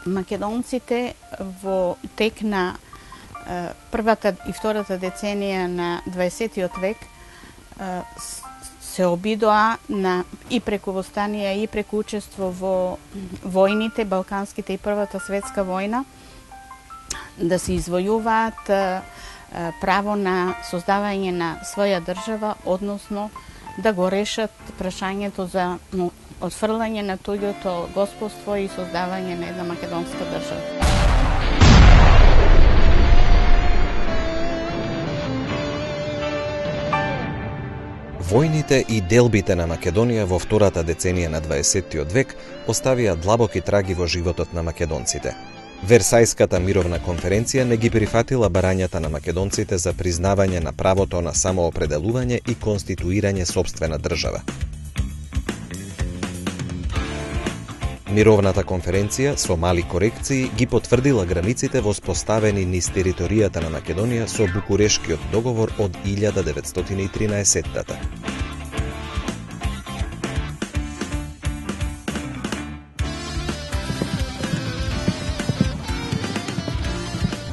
Македонците во тек на првата и втората деценија на 20 век се обидоа на и преку востанија и преку учество во војните, балканските и Првата светска војна, да се извојуваат право на создавање на своја држава, односно да го решат прашањето за отфрлање на туѓото господство и создавање на една македонска држава. Војните и делбите на Македонија во втората деценија на 20 век оставија длабоки траги во животот на македонците. Версајската мировна конференција не ги прифатила барањата на македонците за признавање на правото на самоопределување и конституирање сопствена држава. Мировната конференција со мали корекции ги потврдила границите воспоставени низ територијата на Македонија со Букурешкиот договор од 1913-тата.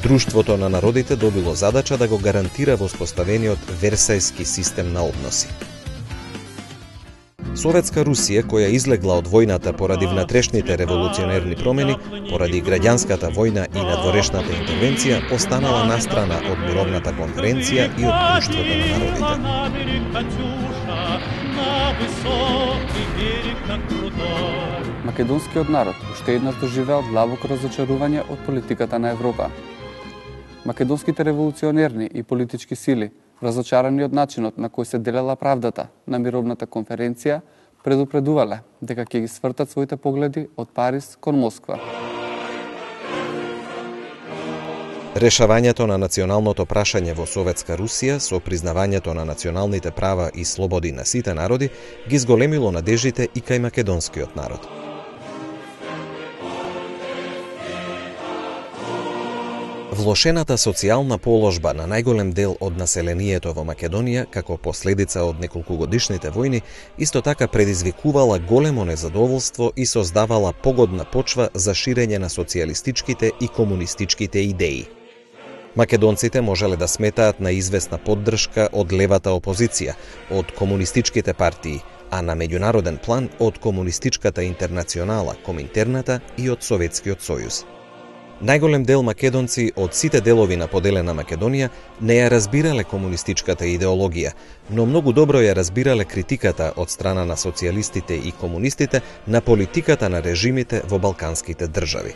Друштвото на народите добило задача да го гарантира воспоставениот Версајски систем на односи. Советска Русија, која излегла од војната поради внатрешните револуционерни промени, поради граѓанската војна и надворешната интервенција, останала настрана од мировната конференција и од Друштвото на народите. Македонскиот народ уште еднаш доживеал длабоко разочарување од политиката на Европа. Македонските револуционерни и политички сили, разочарани од начинот на кој се делела правдата на мировната конференција, предупредувале дека ќе ги свртат своите погледи од Париз кон Москва. Решавањето на националното прашање во Советска Русија со признавањето на националните права и слободи на сите народи ги зголемило надеждите и кај македонскиот народ. Влошената социјална положба на најголем дел од населението во Македонија како последица од неколкугодишните војни исто така предизвикувала големо незадоволство и создавала погодна почва за ширење на социјалистичките и комунистичките идеи. Македонците можеле да сметаат на известна поддршка од левата опозиција, од комунистичките партии, а на меѓународен план од комунистичката интернационала, Коминтерната и од Советскиот сојуз. Најголем дел македонци од сите делови на поделена Македонија не ја разбирале комунистичката идеологија, но многу добро ја разбирале критиката од страна на социјалистите и комунистите на политиката на режимите во балканските држави.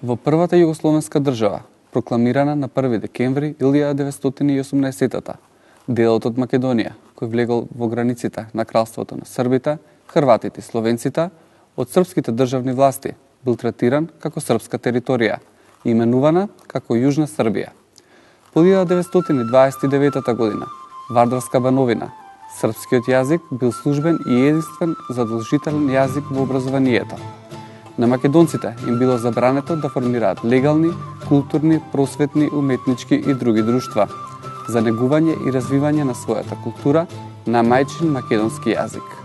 Во првата југословенска држава, прокламирана на 1 декември 1918-та, делот од Македонија, кој влегол во границите на кралството на србите, хрватите и словенците, од српските државни власти бил третиран како српска територија и именувана како Јужна Србија. По 1929 година, Вардарска бановина, српскиот јазик бил службен и единствен задолжителен јазик во образованието. На македонците им било забрането да формираат легални, културни, просветни, уметнички и други друштва за негување и развивање на својата култура на мајчин македонски јазик.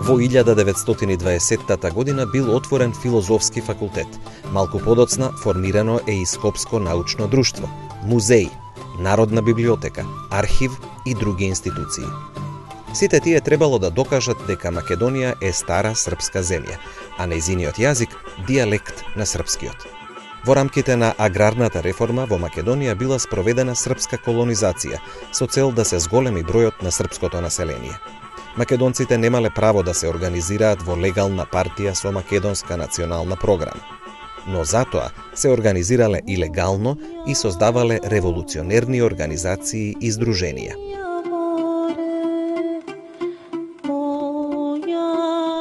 Во 1920 година бил отворен филозофски факултет. Малку подоцна формирано е и Скопско научно друштво, музеј, Народна библиотека, архив и други институции. Сите тие требало да докажат дека Македонија е стара српска земја, а нејзиниот јазик дијалект на српскиот. Во рамките на аграрната реформа во Македонија била спроведена српска колонизација со цел да се зголеми бројот на српското население. Македонците немале право да се организираат во легална партија со македонска национална програма, но затоа се организирале илегално и создавале револуционерни организации и здруженија.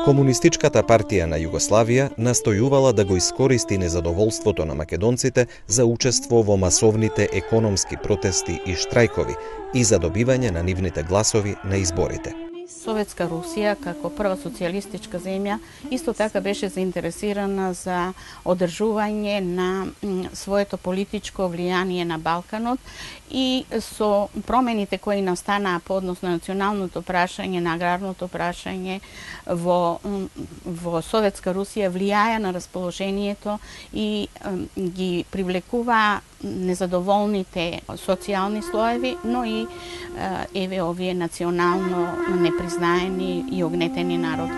Комунистичката партија на Југославија настојувала да го искористи незадоволството на македонците за учество во масовните економски протести и штрајкови и за добивање на нивните гласови на изборите. Советска Русија, како прва социјалистичка земја, исто така беше заинтересирана за одржување на своето политичко влијание на Балканот и со промените кои настанаа по однос на националното прашање, на аграрното прашање во Советска Русија влијаја на расположението и ги привлекува незадоволните социјални слоеви, но и овие национално непризнаени и огнетени народи.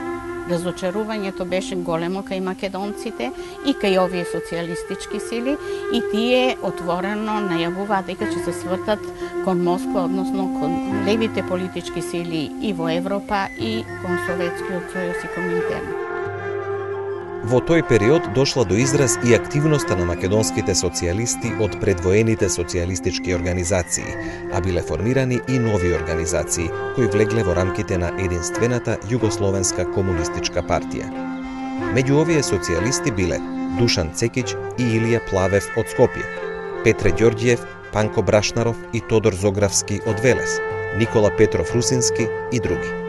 Разочарувањето беше големо кај македонците и кај овие социјалистички сили и тие отворено најавуваат дека ќе се свртат кон Москва, односно кон левите политички сили и во Европа и кон Советскиот сојуз и Коминтерн. Во тој период дошла до израз и активноста на македонските социјалисти од предвоените социјалистички организации, а биле формирани и нови организации кои влегле во рамките на единствената Југословенска комунистичка партија. Меѓу овие социјалисти биле Душан Цекич и Илија Плавев од Скопје, Петре Ѓорѓиев, Панко Брашнаров и Тодор Зогравски од Велес, Никола Петров Русински и други.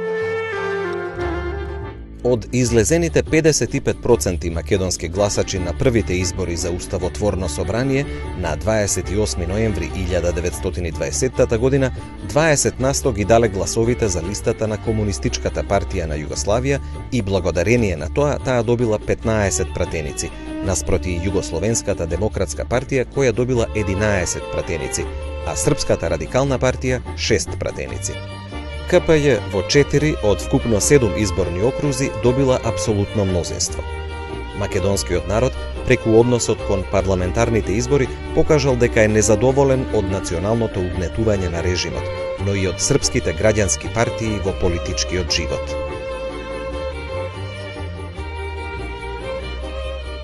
Од излезените 55% македонски гласачи на првите избори за Уставотворно собрание на 28 ноември 1920 година, 20% ги дале гласовите за листата на Комунистичката партија на Југославија и благодарение на тоа таа добила 15 пратеници, наспроти Југословенската демократска партија која добила 11 пратеници, а Српската радикална партија 6 пратеници. КПЈ во 4 од вкупно 7 изборни окрузи добила апсолутно мнозинство. Македонскиот народ, преку односот кон парламентарните избори, покажал дека е незадоволен од националното угнетување на режимот, но и од српските граѓански партии во политичкиот живот.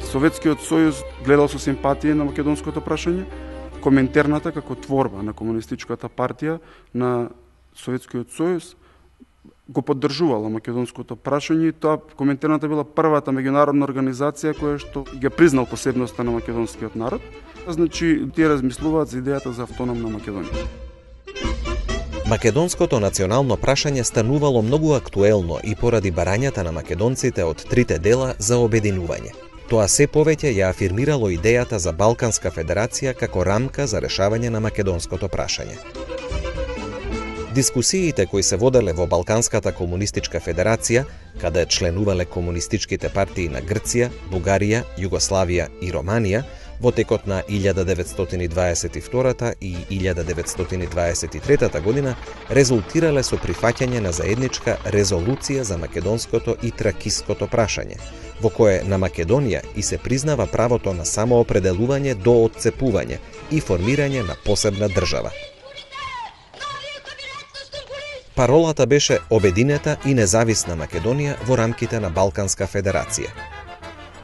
Советскиот сојуз гледал со симпатија на македонското прашање, Коминтерната како творба на комунистичката партија на Советскиот сојуз го поддржувала македонското прашање и тоа Коминтерната била првата меѓународна организација која што ги признал посебноста на македонскиот народ. Значи, тие размислуваат за идејата за автономна Македонија. Македонското национално прашање станувало многу актуелно и поради барањата на македонците од трите дела за обединување. Тоа се повеќе ја афирмирало идејата за Балканска федерација како рамка за решавање на македонското прашање. Дискусиите кои се воделе во Балканската комунистичка федерација, каде членувале комунистичките партии на Грција, Бугарија, Југославија и Романија, во текот на 1922 и 1923 година, резултирале со прифаќање на заедничка резолуција за македонското и тракиското прашање, во кое на Македонија и се признава правото на самоопределување до отцепување и формирање на посебна држава. Паролата беше обединета и независна Македонија во рамките на Балканска федерација.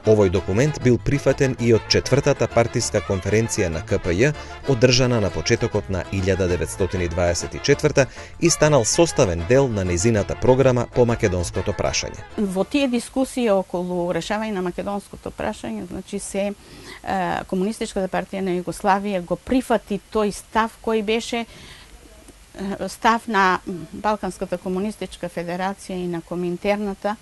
Овој документ бил прифатен и од четвртата партиска конференција на КПЈ, одржана на почетокот на 1924 и станал составен дел на незината програма по македонското прашање. Во тие дискусии околу решавање на македонското прашање, значи Комунистичката партија на Југославија го прифати тој став кој беше став на Балканската комунистичка федерација и на Коминтерната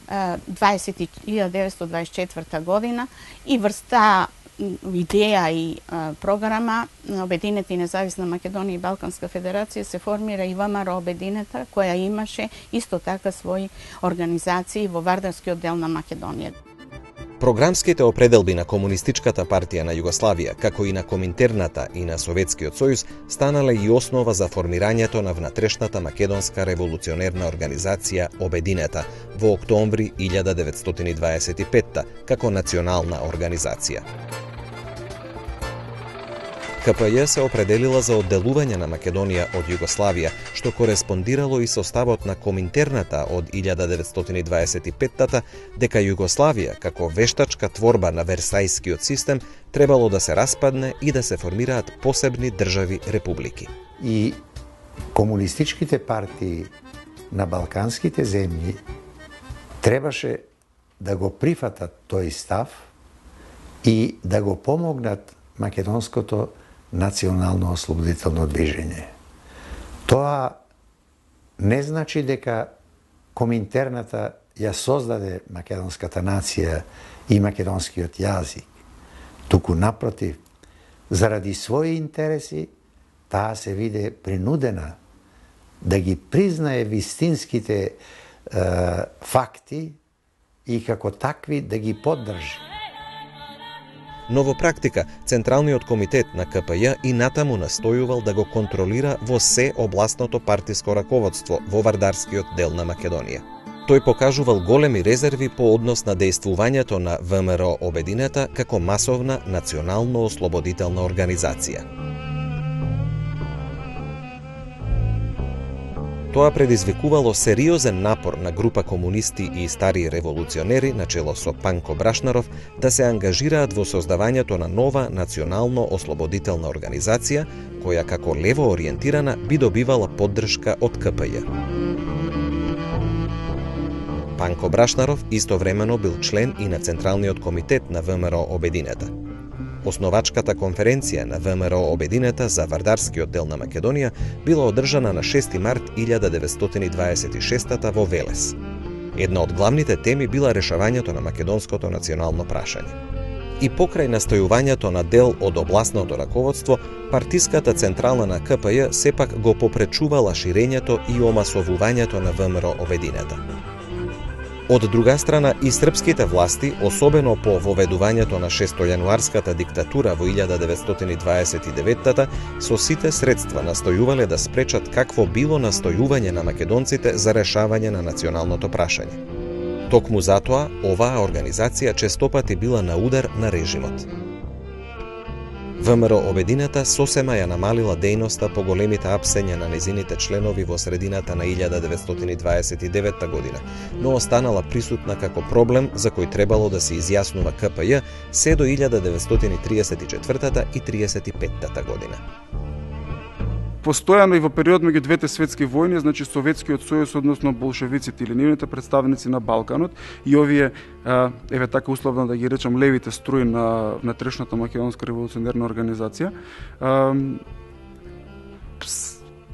1924 година и врста идеја и програма на Обединета и независна Македонија и Балканска федерација се формира и ВМРО Обединета, која имаше исто така своји организации во Вардарскиот дел на Македонија. Програмските определби на Комунистичката партија на Југославија, како и на Коминтерната и на Советскиот сојуз, станале и основа за формирањето на внатрешната македонска револуционерна организација Обединета во октомври 1925 како национална организација. КПЈ се определила за одделување на Македонија од Југославија, што кореспондирало и со ставот на Коминтерната од 1925 дека Југославија, како вештачка творба на Версајскиот систем, требало да се распадне и да се формираат посебни држави републики. И комунистичките партии на балканските земји требаше да го прифатат тој став и да го помогнат македонското национално ослободително движење. Тоа не значи дека Коминтерната ја создаде македонската нација и македонскиот јазик. Туку напротив, заради своји интереси, таа се виде принудена да ги признае вистинските факти и како такви да ги поддржи. Но во практика, Централниот комитет на КПЈ и натаму настојувал да го контролира во се областното партиско раководство во вардарскиот дел на Македонија. Тој покажувал големи резерви по однос на дејствувањето на ВМРО Обединета како масовна национално-ослободителна организација. Тоа предизвикувало сериозен напор на група комунисти и стари револуционери на чело со Панко Брашнаров да се ангажираат во создавањето на нова национално-ослободителна организација, која како лево ориентирана би добивала поддршка од КПЈ. Панко Брашнаров истовремено бил член и на Централниот комитет на ВМРО Обединета. Основачката конференција на ВМРО Обединета за вардарскиот дел на Македонија била одржана на 6 март 1926 во Велес. Една од главните теми била решавањето на македонското национално прашање. И покрај настојувањето на дел од областното раководство, партиската централа на КПЈ сепак го попречувала ширењето и омасовувањето на ВМРО Обединета. Од друга страна, и српските власти, особено по воведувањето на 6-јануарската диктатура во 1929-та, со сите средства настојувале да спречат какво било настојување на македонците за решавање на националното прашање. Токму затоа, оваа организација честопати била на удар на режимот. ВМРО Обединета сосема ја намалила дејноста по големите апсења на незините членови во средината на 1929 година, но останала присутна како проблем за кој требало да се изјаснува КПЈ се до 1934 и 35 година. Постојано и во период меѓу двете светски војни, значи Советскиот сојуз, односно болшевиците или нивните представници на Балканот и овие, еве така условно да ги речам, левите струи на внатрешната македонска револуционерна организација,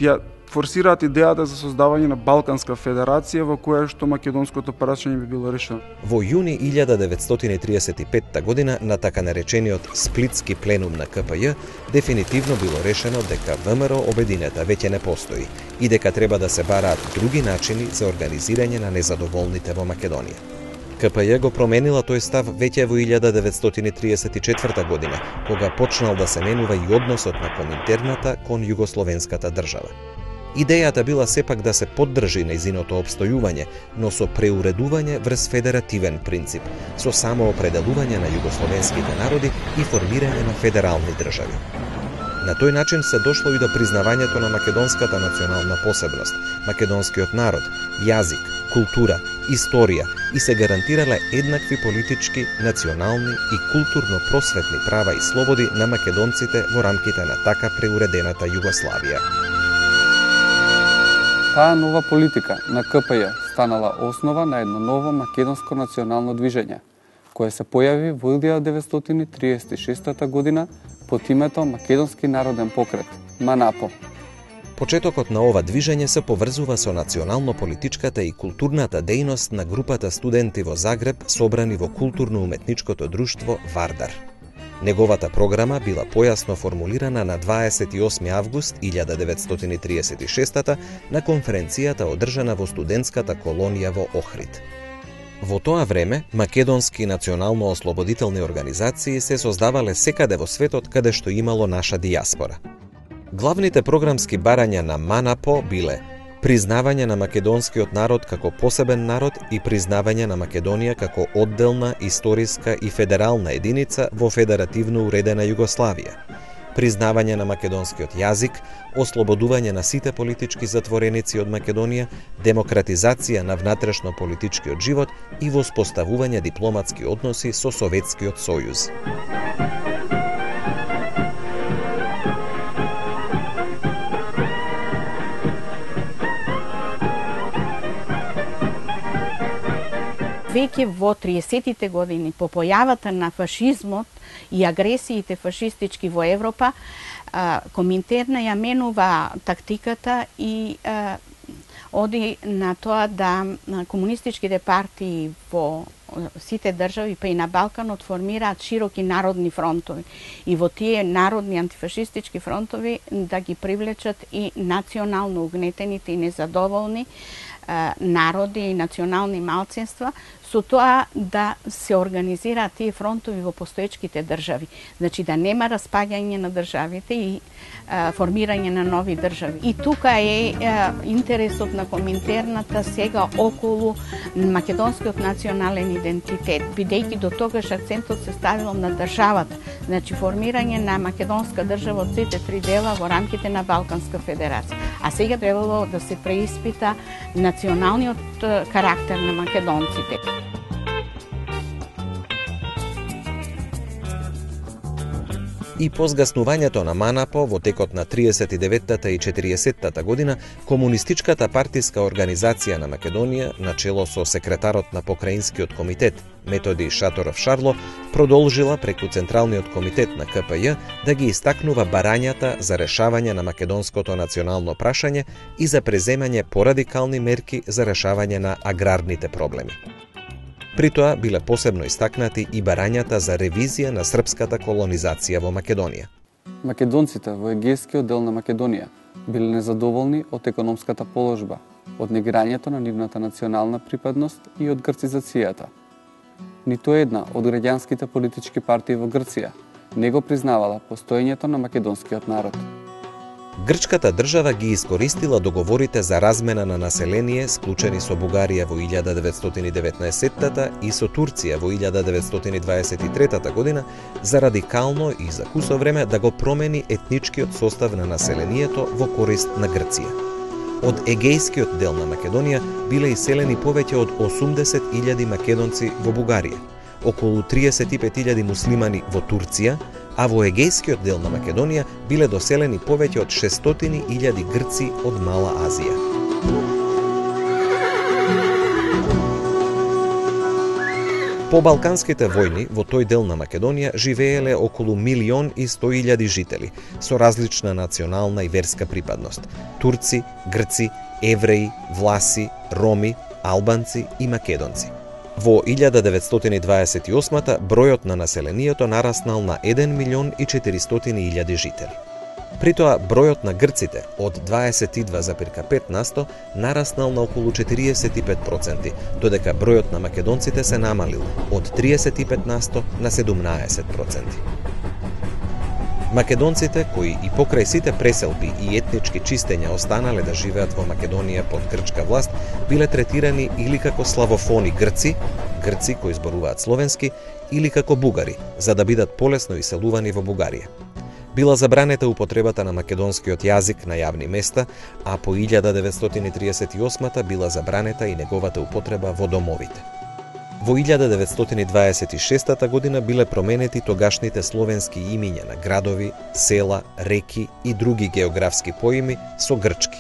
ја форсираат идејата за создавање на Балканска федерација во која што македонското прашање би било решено. Во јуни 1935 година на така наречениот Сплитски пленум на КПЈ дефинитивно било решено дека ВМРО Обединета веќе не постои и дека треба да се бараат други начини за организирање на незадоволните во Македонија. КПЈ го променила тој став веќе во 1934 година, кога почнал да се менува и односот на Коминтерната кон југословенската држава. Идејата била сепак да се поддржи нејзиното обстојување, но со преуредување врз федеративен принцип, со самоопределување на југословенските народи и формирање на федерални држави. На тој начин се дошло и до признавањето на македонската национална посебност, македонскиот народ, јазик, култура, историја и се гарантирале еднакви политички, национални и културно-просветни права и слободи на македонците во рамките на така преуредената Југославија. Таа нова политика на КПЈ станала основа на едно ново македонско национално движење, кое се појави во 1936 година под името Македонски народен покрет, МАНАПО. Почетокот на ова движење се поврзува со национално-политичката и културната дејност на групата студенти во Загреб собрани во културно-уметничкото друштво Вардар. Неговата програма била појасно формулирана на 28 август 1936 на конференцијата одржана во студентската колонија во Охрид. Во тоа време, македонски национално-ослободителни организации се создавале секаде во светот каде што имало наша дијаспора. Главните програмски барања на МАНАПО биле признавање на македонскиот народ како посебен народ и признавање на Македонија како одделна, историска и федерална единица во федеративно уредена Југославија, признавање на македонскиот јазик, ослободување на сите политички затвореници од Македонија, демократизација на внатрешно-политичкиот живот и воспоставување дипломатски односи со Советскиот сојуз. Веќе во 30-тите години, по појавата на фашизмот и агресиите фашистички во Европа, Коминтерна ја менува тактиката и оди на тоа да комунистичките партии во сите држави, па и на Балканот, формираат широки народни фронтови. И во тие народни антифашистички фронтови да ги привлечат и национално угнетените и незадоволни народи и национални малцинства, со тоа да се организираат тие фронтови во постоечките држави. Значи да нема распаѓање на државите и формирање на нови држави. И тука е интересот на Коминтерната сега околу македонскиот национален идентитет, бидејќи до тогаш акцентот се ставил на државата, значи формирање на македонска држава од сите три дела во рамките на Балканска федерација. А сега требало да се преиспита националниот карактер на македонците. И по згаснувањето на МАНАПО во текот на 39-та и 40-та година, Комунистичката партиска организација на Македонија, начело со секретарот на Покраинскиот комитет Методи Шаторов Шарло, продолжила преку Централниот комитет на КПЈ да ги истакнува барањата за решавање на македонското национално прашање и за преземање порадикални мерки за решавање на аграрните проблеми. При тоа биле посебно истакнати и барањата за ревизија на српската колонизација во Македонија. Македонците во егејскиот дел на Македонија биле незадоволни од економската положба, од негирањето на нивната национална припадност и од грцизацијата. Ниту една од граѓанските политички партии во Грција не го признавала постоењето на македонскиот народ. Грчката држава ги искористила договорите за размена на население склучени со Бугарија во 1919 и со Турција во 1923 година за радикално и за кусо време да го промени етничкиот состав на населението во корист на Грција. Од егејскиот дел на Македонија биле иселени повеќе од 80.000 македонци во Бугарија, околу 35.000 муслимани во Турција, а во егејскиот дел на Македонија биле доселени повеќе од 600.000 грци од Мала Азија. По Балканските војни во тој дел на Македонија живееле околу 1.100.000 жители со различна национална и верска припадност: турци, грци, евреи, власи, роми, албанци и македонци. Во 1928 бројот на населението нараснал на 1.400.000 жители. При тоа бројот на грците од 22,5% нараснал на околу 45%, додека бројот на македонците се намалил од 35% на 17%. Македонците, кои и покрај сите преселби и етнички чистења останале да живеат во Македонија под грчка власт, биле третирани или како славофони грци, грци кои зборуваат словенски, или како бугари, за да бидат полесно иселувани во Бугарија. Била забранета употребата на македонскиот јазик на јавни места, а по 1938 била забранета и неговата употреба во домовите. Во 1926 година биле променети тогашните словенски имиња на градови, села, реки и други географски поими со грчки.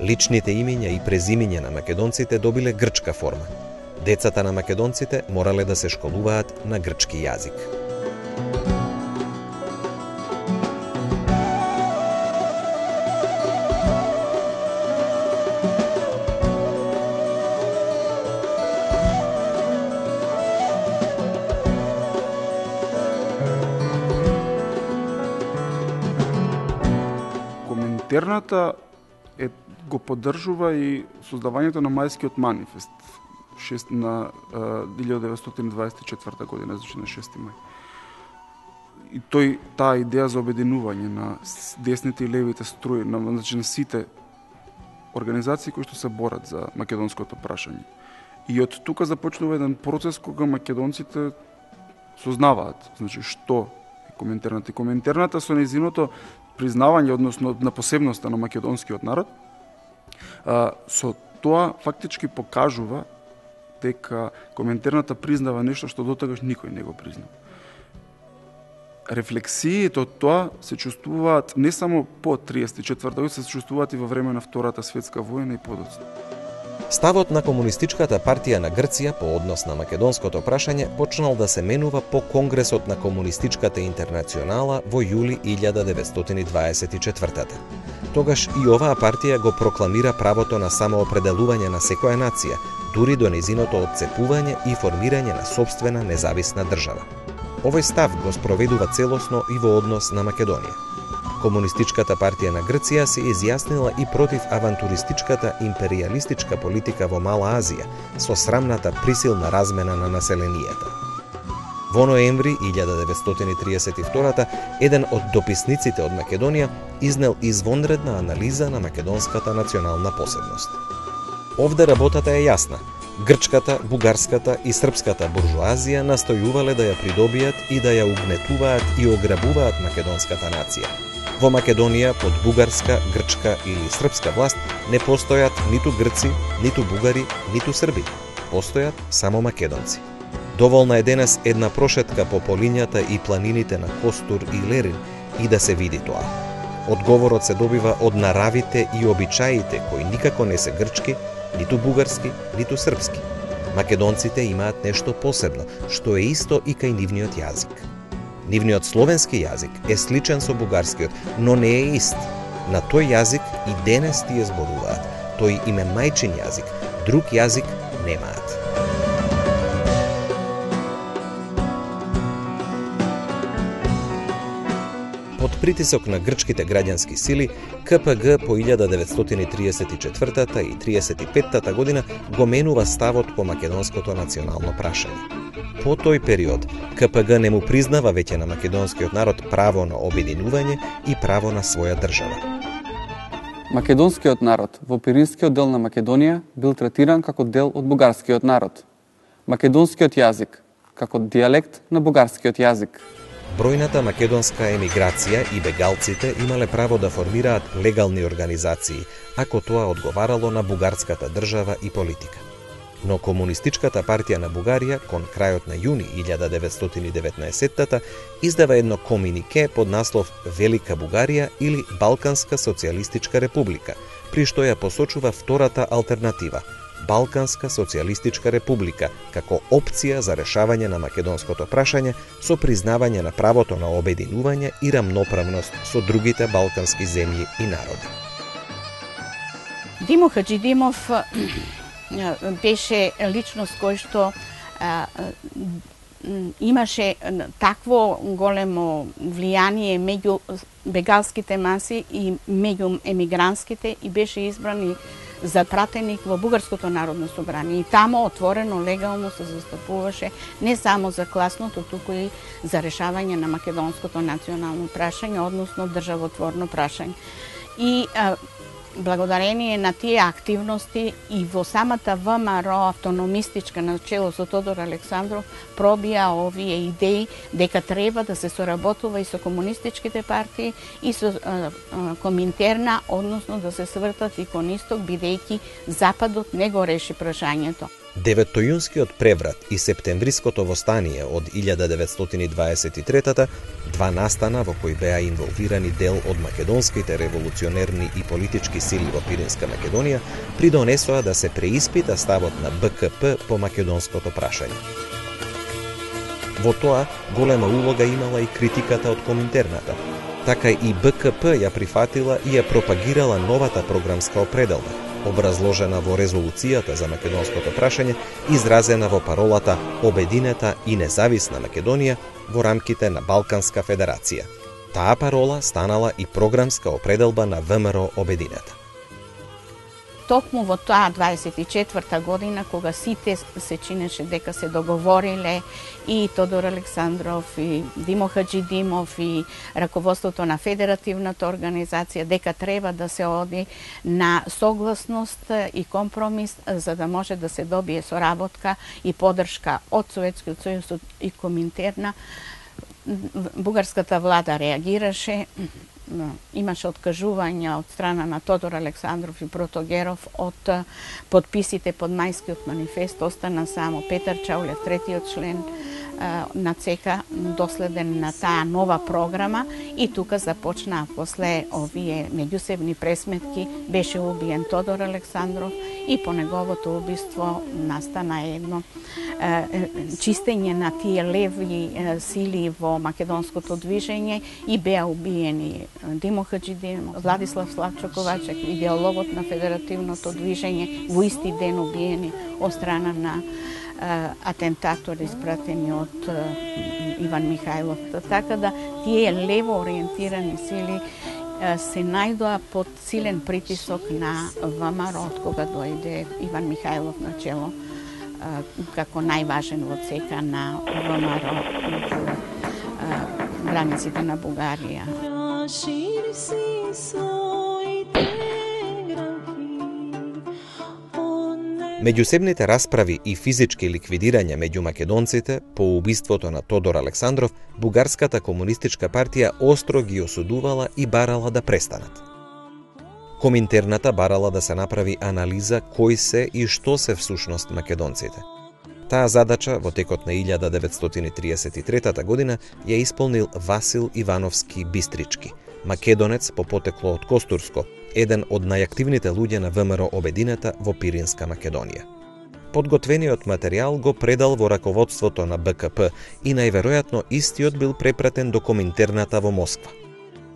Личните имиња и презимиња на македонците добиле грчка форма. Децата на македонците морале да се школуваат на грчки јазик. Коминтерната го поддржува и создавањето на Мајскиот манифест на 1924 година, значи на 6 мај. И таа идеја за обединување на десните и левите струи, значи на сите организации кои што се борат за македонското прашање. И од тука започнува еден процес кога македонците сознаваат, значи што е Коминтерната. И Коминтерната со нејзиното признавање, односно на посебноста на македонскиот народ, со тоа фактички покажува дека Коминтерната признава нешто што дотогаш никој не го признава. Рефлексиите од тоа се чувствуваат не само по 34 година, се чувствуваат и во време на Втората светска војна и подоцна. Ставот на Комунистичката партија на Грција по однос на македонското прашање почнал да се менува по Конгресот на Комунистичката интернационала во јули 1924. Тогаш и оваа партија го прокламира правото на самоопределување на секоја нација, дури до незиното отцепување и формирање на сопствена независна држава. Овој став го спроведува целосно и во однос на Македонија. Комунистичката партија на Грција се изјаснила и против авантуристичката империалистичка политика во Мала Азија, со срамната присилна размена на населенијата. Во ноември 1932 еден од дописниците од Македонија изнел извонредна анализа на македонската национална посебност. Овде работата е јасна. Грчката, бугарската и српската буржуазија настојувале да ја придобијат и да ја угнетуваат и ограбуваат македонската нација. Во Македонија под бугарска, грчка или српска власт не постојат ниту грци, ниту бугари, ниту срби. Постојат само македонци. Доволна е денес една прошетка по полињата и планините на Костур и Лерин и да се види тоа. Одговорот се добива од наравите и обичаите кои никако не се грчки, ниту бугарски, ниту српски. Македонците имаат нешто посебно, што е исто и кај нивниот јазик. Нивниот словенски јазик е сличен со бугарскиот, но не е ист. На тој јазик и денес тие зборуваат. Тој им е мајчин јазик, друг јазик немаат. Под притисок на грчките граѓански сили, КПГ по 1934 и 1935 година го менува ставот по македонското национално прашање. По тој период, КПГ не му признава веќе на македонскиот народ право на обединување и право на своја држава. Македонскиот народ во Пиринскиот дел на Македонија бил третиран како дел од бугарскиот народ. Македонскиот јазик како дијалект на бугарскиот јазик. Бројната македонска емиграција и бегалците имале право да формираат легални организации, ако тоа одговарало на бугарската држава и политика. Но Комунистичката партија на Бугарија кон крајот на јуни 1919 издава едно комунике под наслов Велика Бугарија или Балканска социјалистичка република, при што ја посочува втората алтернатива Балканска социјалистичка република како опција за решавање на македонското прашање со признавање на правото на обединување и рамноправност со другите балкански земји и народи. Димо Хаджидимов беше личност кој што имаше такво големо влијание меѓу бегалските маси и меѓу емигрантските и беше избран и за пратеник во Бугарското народно собрание. И тамо отворено, легално се застапуваше не само за класното, туку и за решавање на македонското национално прашање, односно државотворно прашање. И благодарение на тие активности и во самата ВМРО автономистичка на чело со Тодор Александров пробија овие идеи дека треба да се соработува и со комунистичките партии и со Коминтерна, односно да се свртат и кон исток, бидејќи Западот не го реши прашањето. Деветтојунскиот преврат и септемвриското востание од 1923-та, два настана во кои беа инволвирани дел од македонските револуционерни и политички сили во Пиринска Македонија, придонесоа да се преиспита ставот на БКП по македонското прашање. Во тоа голема улога имала и критиката од Коминтерната. Така и БКП ја прифатила и ја пропагирала новата програмска определба, образложена во резолуцијата за македонското прашање, изразена во паролата Обединета и независна Македонија во рамките на Балканска федерација. Таа парола станала и програмска определба на ВМРО Обединета. Токму во таа 24-та година, кога сите се чинеше дека се договориле и Тодор Александров, и Димо Хаджидимов, и раководството на Федеративната организација, дека треба да се оди на согласност и компромис, за да може да се добие соработка и поддршка од Советскиот сојуз и Коминтерна, бугарската влада реагираше имаше откажување од страна на Тодор Александров и Протогеров од подписите под Мајскиот манифест. Остана само Петар Чаулев, третиот член на ЦК, доследен на таа нова програма, и тука започнаа после овие меѓусебни пресметки. Беше убиен Тодор Александров и по неговото убиство настана едно чистење на тие леви сили во македонското движење и беа убиени Димо Хаджидин, Владислав Славчо-Ковачек, идеологот на федеративното движење, во исти ден убиени од страна на атентатори испратени од Иван Михајлов. Така да тие лево ориентирани сили се најдоа под силен притисок на ВМРО од кога дојде Иван Михајлов на чело како најважен во ЦК на ВМРО во границите на Бугарија. Меѓусебните расправи и физички ликвидирања меѓу македонците по убиството на Тодор Александров, Бугарската комунистичка партија остро ги осудувала и барала да престанат. Коминтерната барала да се направи анализа кој се и што се всушност македонците. Таа задача во текот на 1933 година ја исполнил Васил Ивановски Бистрички, македонец по потекло од Костурско, еден од најактивните луѓе на ВМРО Обединета во Пиринска Македонија. Подготвениот материјал го предал во раководството на БКП и најверојатно истиот бил препратен до Коминтерната во Москва.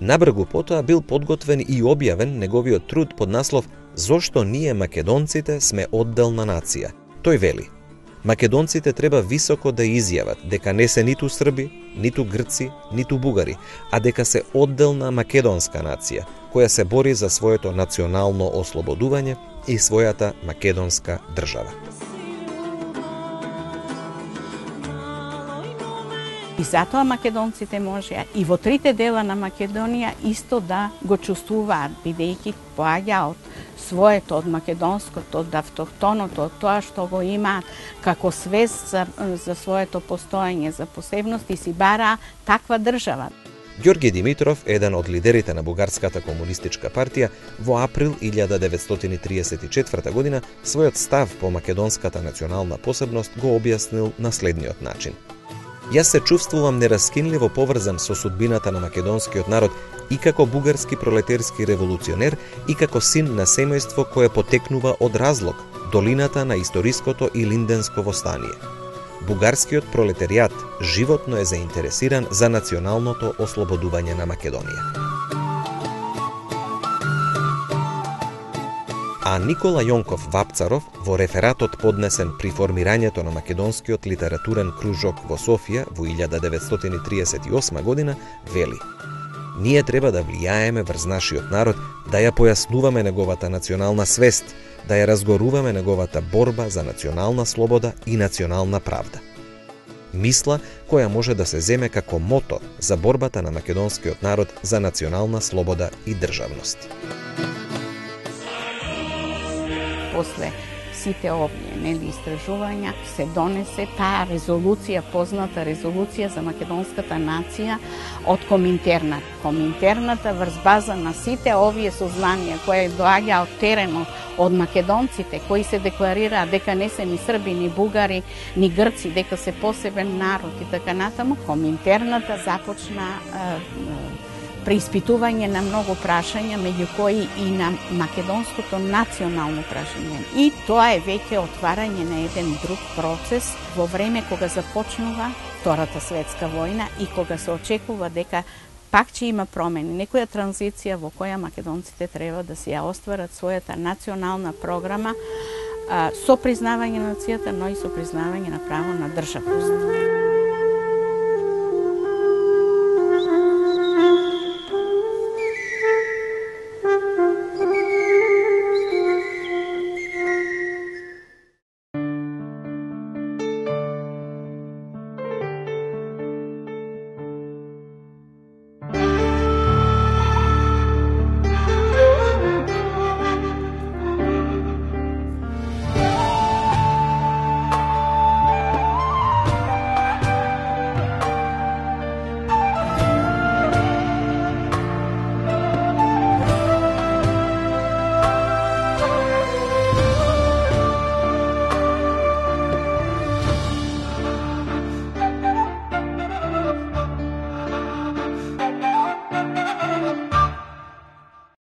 Набргу потоа бил подготвен и објавен неговиот труд под наслов «Зошто ние македонците сме одделна нација». Тој вели: македонците треба високо да изјават дека не се ниту срби, ниту грци, ниту бугари, а дека се одделна македонска нација, која се бори за своето национално ослободување и својата македонска држава. И затоа македонците можеа и во трите дела на Македонија исто да го чувствуваат, бидејќи поаѓа од своето, од македонското, од автохтоното, од тоа што го имаат како свест за своето постоење, за посебност, и си бараа таква држава. Ѓорги Димитров, еден од лидерите на Бугарската комунистичка партија, во април 1934 година својот став по македонската национална посебност го објаснил на следниот начин. Јас се чувствувам нераскинливо поврзан со судбината на македонскиот народ и како бугарски пролетерски револуционер и како син на семејство кое потекнува од Разлог, долината на историското и Линденско востание. Бугарскиот пролетеријат животно е заинтересиран за националното ослободување на Македонија. А Никола Јонков Вапцаров во рефератот поднесен при формирањето на македонскиот литературен кружок во Софија во 1938 година вели: ние треба да влијаеме врз нашиот народ, да ја појаснуваме неговата национална свест, да ја разгоруваме неговата борба за национална слобода и национална правда. Мисла која може да се земе како мото за борбата на македонскиот народ за национална слобода и државност. После сите овие истражувања се донесе таа резолуција, позната резолуција за македонската нација од Коминтерна. Коминтерната врз база на сите овие сознанија кои доаѓа од теренот, од македонците кои се декларираат дека не се ни срби, ни бугари, ни грци, дека се посебен народ и така натаму, Коминтерната започна преиспитување на многу прашања, меѓу кои и на македонското национално прашање. И тоа е веќе отварање на еден друг процес во време кога започнува Втората светска војна и кога се очекува дека пак ќе има промени, некоја транзиција во која македонците треба да си ја остварат својата национална програма со признавање на нацијата, но и со признавање на право на државност.